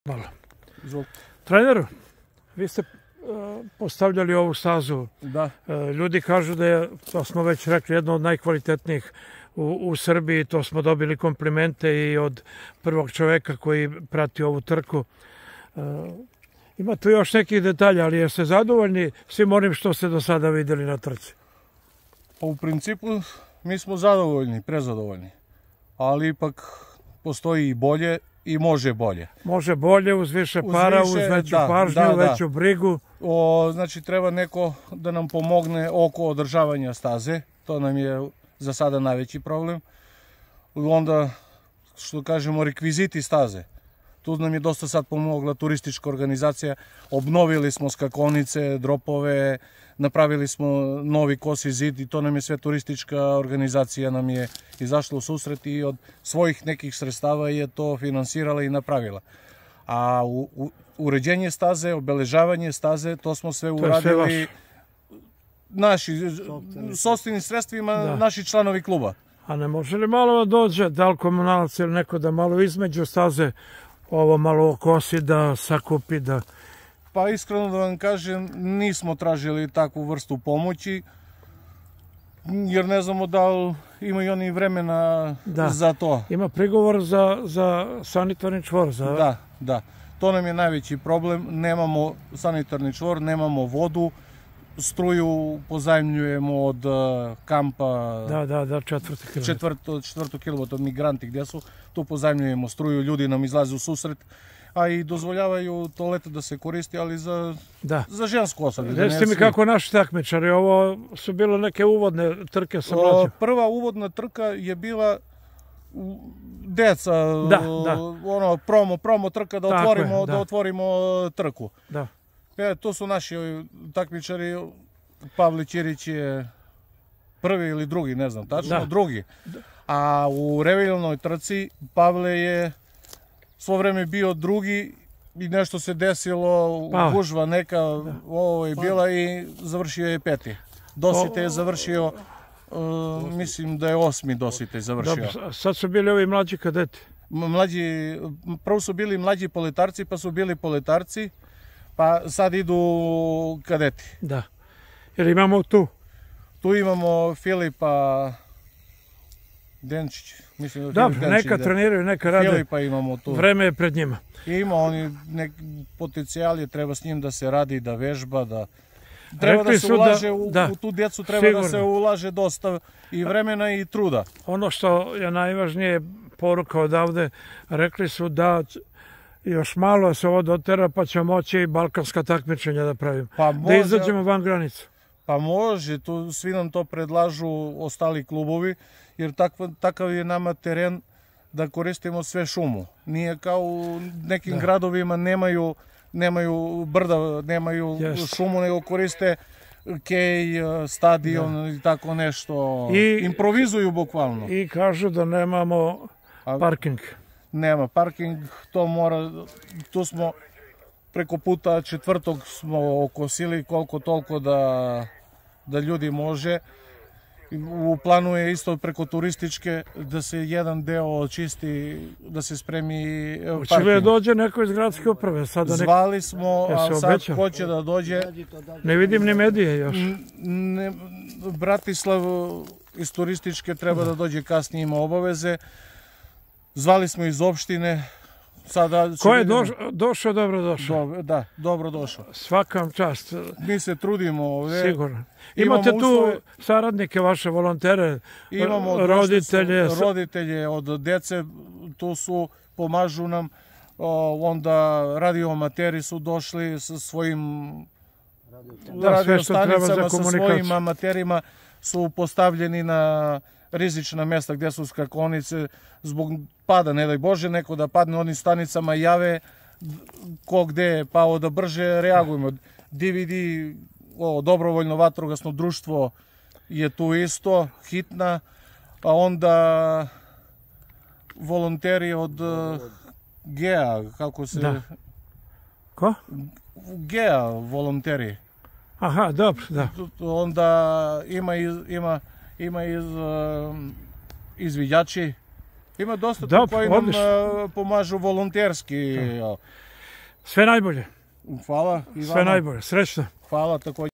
Malo. Treneru, vi ste postavljali ovu stazu. Da. Ljudi kažu da je, to smo već rekli, jedno od najkvalitetnijih u Srbiji. To smo dobili komplimente i od prvog čoveka koji prati ovu trku. Ima tu još nekih detalja, ali jeste zadovoljni svim onim što ste do sada vidjeli na trci? Pa u principu mi smo zadovoljni, prezadovoljni. Ali ipak postoji i bolje i može bolje. Može bolje, uz više para, uz veću pažnju, veću brigu. Znači treba neko da nam pomogne oko održavanja staze. To nam je za sada najveći problem. Onda, što kažemo, rekviziti staze. Tu nam je dosta sad pomogla turistička organizacija. Obnovili smo skakovnice, dropove, napravili smo novi kosi zid i to nam je sve turistička organizacija nam je izašla u susret i od svojih nekih sredstava je to finansirala i napravila. A uređenje staze, obeležavanje staze, to smo sve uradili sopstvenim sredstvima, naši članovi kluba. A ne može li malo da dođe, da li komunalac ili neko da malo između staze ovo malo kosi, da sakupi, da... Pa iskreno da vam kažem, nismo tražili takvu vrstu pomoći, jer ne znamo da li imaju oni vremena za to. Ima prigovor za sanitarni čvor. Da. To nam je najveći problem. Nemamo sanitarni čvor, nemamo vodu, struju pozajmljujemo od kampa. Da, četvrtu kilometra od migranti gdje su. Tu pozajmljujemo struju, ljudi nam izlaze u susret, a i dozvoljavaju toalete da se koristi, ali za žensku osobu. Recite mi kako naši takmičari, ovo su bile neke uvodne trke sa mlađim? Prva uvodna trka je bila deca, promo trka da otvorimo trku. To su naši takmičari, Pavle Ćirić je prvi ili drugi, ne znam tačno, drugi. A u revijalnoj trci Pavle je svo vreme bio drugi i nešto se desilo, gužva neka ovo je bila i završio je peti. Dosite je završio, mislim da je 8. Dosite završio. Sad su bili ovi mlađi kadeti? Prvo su bili mlađi poletarci, pa su bili poletarci, pa sad idu kadeti. Da. Jer imamo tu? Tu imamo Filipa Denčić. Dobro, neka treniraju, neka rade. Filipa imamo tu. Vreme je pred njima. Ima oni neki potencijali, treba s njim da se radi, da vežba, da... Treba da se ulaže u tu djecu, treba da se ulaže dosta i vremena i truda. Ono što je najvažnije poruka odavde, rekli su da još malo se ovo dotera pa će moći i balkanska takmičenja da pravimo. Da izađemo van granicu. Pa može, svi nam to predlažu ostali klubovi, jer takav je nama teren da koristimo sve šumu. Nije kao u nekim gradovima nemaju brda, nemaju šumu, nego koriste kej, stadion i tako nešto. Improvizuju bukvalno. I kažu da nemamo parking. Nema parking, to mora, tu smo preko puta 4. smo okosili koliko toliko da ljudi može. U planu je isto preko turističke da se jedan deo očisti, da se spremi parking. Hoće li dođe neko iz gradske uprave? Zvali smo, a sad hoće da dođe. Ne vidim ni medije još. Bratislav iz turističke treba da dođe kasnije, ima obaveze. Zvali smo iz opštine. Ko je došao, dobro došao. Da, dobro došao. Svakam čast. Mi se trudimo ovdje. Sigurno. Imate tu saradnike, vaše volontere, roditelje? Roditelje od dece, tu su, pomažu nam. Onda radioamateri su došli sa svojim radiostanicama, sa svojim amaterima su postavljeni na rizična mjesta gdje su skakovnice zbog pada, ne daj Bože, neko da padne, onim stanicama jave ko gde je pao da brže reagujemo. DVD, dobrovoljno vatrogasno društvo je tu isto, hitna, a onda volonteri od GEA, kako se... Ko? GEA volonteri. Aha, dobro, da. Onda ima izviđači, ima dosta koji nam pomažu volonterski. Sve najbolje. Hvala i vama. Sve najbolje. Srećno. Hvala također.